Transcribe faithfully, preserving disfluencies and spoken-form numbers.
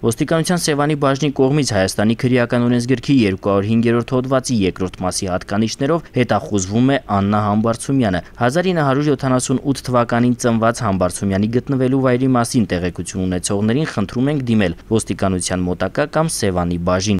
Ոստիկանության Սևանի բաժնի կողմից Հայաստանի քրեական օրենսգրքի երկուկարորդ հինգերորդ հոդվածի երկրորդ մասի հատկանիշներով հետախուզվում է Աննա Համբարձումյանը։ հազար ինը հարյուր յոթանասունութ թվականին ծնված Համբարձումյանի գտնվելու վայրի մասին տեղեկություն ունեցողներին խնդրում ենք դիմել ոստիկանության մոտակա կամ Սևանի բաժին։